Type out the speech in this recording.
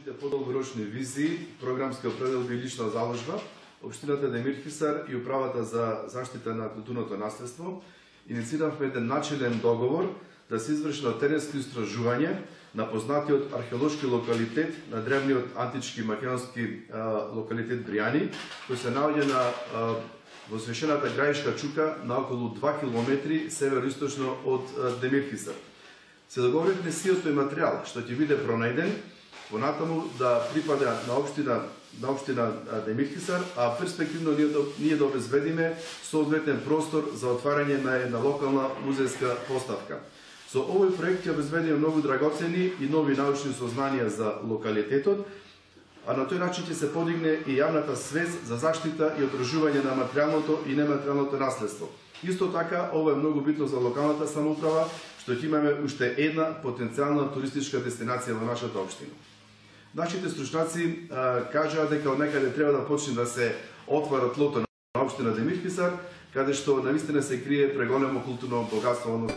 научните подолгорочни визии, програмски определби и лична заложба, Општината Демирхисар и Управата за заштита на културното наследство иницииравме еден начелен договор да се изврши на теренско истражување на познатиот археолошки локалитет на древниот антички македонски локалитет Бријани, кој се наоѓа на возвишената Граишка чука на околу 2 км североисточно од Демирхисар. Се договоривме сиот тој материјал што ќе биде пронајден понатаму да припада на општина Демирхисар, а перспективно ние да обезбедиме соодветен простор за отварање на една локална музејска поставка. Со овој проект ќе обезбедиме многу драгоцени и нови научни сознанија за локалитетот, а на тој начин ќе се подигне и јавната свест за заштита и одржување на материјалното и нематеријалното наследство. Исто така, ова е многу битно за локалната самоуправа, што ќе имаме уште една потенцијална туристичка дестинација во нашата општина. Нашите стручњаци кажаа дека од некаде треба да почне да се отвара тлото на општина Демирхисар, каде што навистина се крие преголемо културно богатство.